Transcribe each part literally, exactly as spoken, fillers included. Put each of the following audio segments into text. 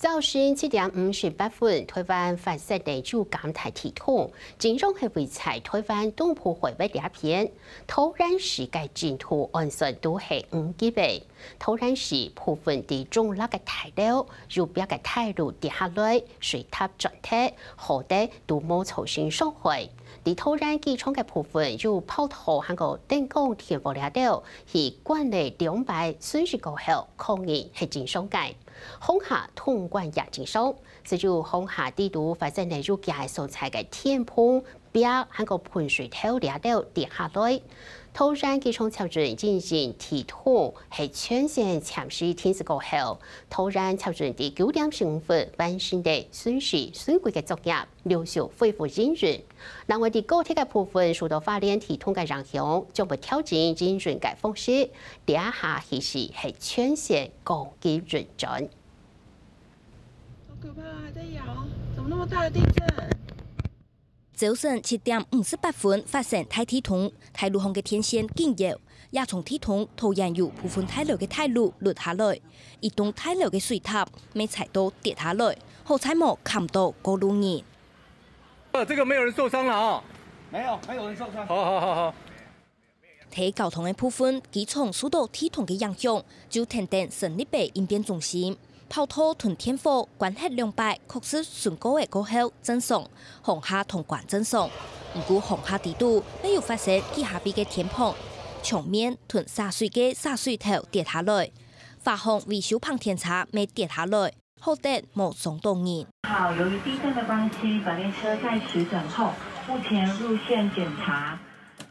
朝晨七點五十八分，臺灣發生了有感大地動，真相係位在臺灣東部海域這片。桃園市个震度按算都係五級个。桃園市部分地中落个大樓，有壁个大路跌下來，水塔斷忒，好得都無造成傷害。在桃園機場个部分，有跑道還過電光電火這兜，去關了兩擺，損失過後，抗議係真相个。 航廈通關也真相，只有航廈底肚發生了有幾个所在个天篷、壁，還過噴水頭這兜跌下來。桃園機場接陣進行地動，係全線暫時停駛過後，桃園接陣在九點十五分完成了損失損毀个作業，陸續恢復營運。另外，在高鐵个部分，受到花蓮地動个影響，將會調整營運个方式，這下其實係全線降級運轉。 好可怕，還在搖，怎麼那麼大的地震？朝晨七點五十八分發生大地動，大路項个電線緊搖，也從地動桃園有部分大樓个大路落下來，一棟大樓个水塔乜差到跌下來，好在無砍到過路人。呃，這個沒有人受傷了啊？沒有，沒有人受傷。好，好，好，好。 在交通个部分，機場受到地動个影響，就停等成立个應變中心。跑道同電火關忒兩擺，確實損過个過後正常，航廈通關正常。毋過航廈底肚乜有發生幾下位个天篷、牆面同灑水个灑水頭跌下來，華航維修棚天差乜跌下來，好得無傷到人。好，由於地震的關係，本列車暫時等候，目前路線檢查。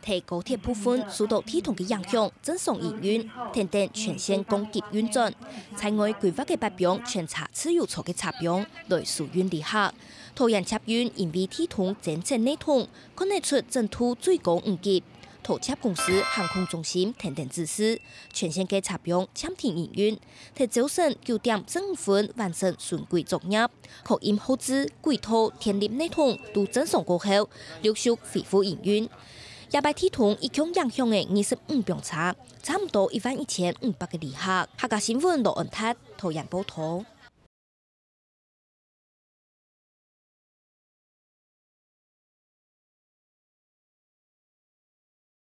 在高鐵部分受到地動个影響，正常營運，停等全線降級運轉。在外規劃个八枋全車自由座个車枋來疏運旅客。桃園捷運因為地動增設系統，看得出整度最高五級。桃捷公司航空中心停等指示，全線个車枋暫停營運，在朝晨九點十五分完成巡軌作業。 確認號誌、軌道、電力系統都正常過後，陸續恢復營運。這擺地動一共影響个二十五枋車，差毋多一萬一千五百个旅客。客家新聞羅恩達，桃園報導。